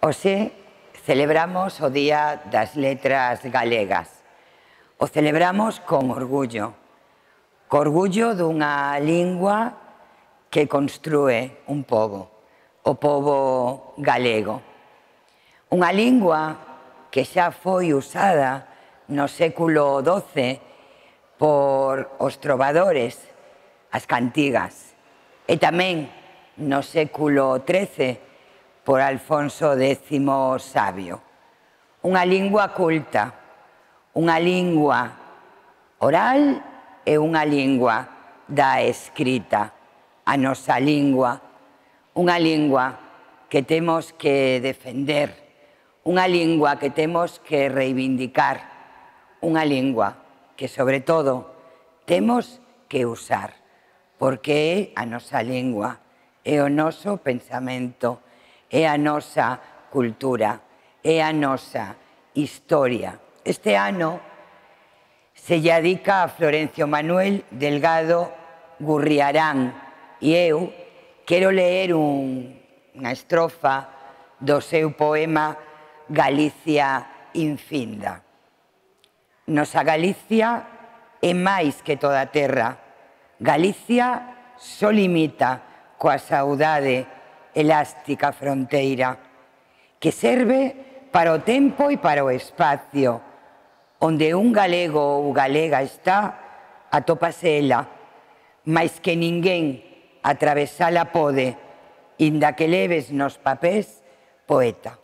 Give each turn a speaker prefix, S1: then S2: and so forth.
S1: Hoxe celebramos o Día das Letras Galegas. O celebramos con orgullo dunha lingua que construe un pobo, o pobo galego. Unha lingua que xa foi usada no século XII por os trovadores, as cantigas, e tamén no século XIII por Alfonso X Sabio. Unha lingua culta, unha lingua oral e unha lingua da escrita, a nosa lingua, unha lingua que temos que defender, unha lingua que temos que reivindicar, unha lingua que, sobre todo, temos que usar, porque é a nosa lingua, é o noso pensamento, é a nosa cultura, é a nosa historia. Este ano se lle dedica a Florencio Manuel Delgado Gurriarán e eu quero ler unha estrofa do seu poema Galicia infinda. Nosa Galicia é máis que toda a terra. Galicia só limita coa saudade elástica fronteira, que serve para o tempo e para o espacio. Onde un galego ou galega está, atópase ela, mais que ninguén atravesala pode, inda que leves nos papéis poeta.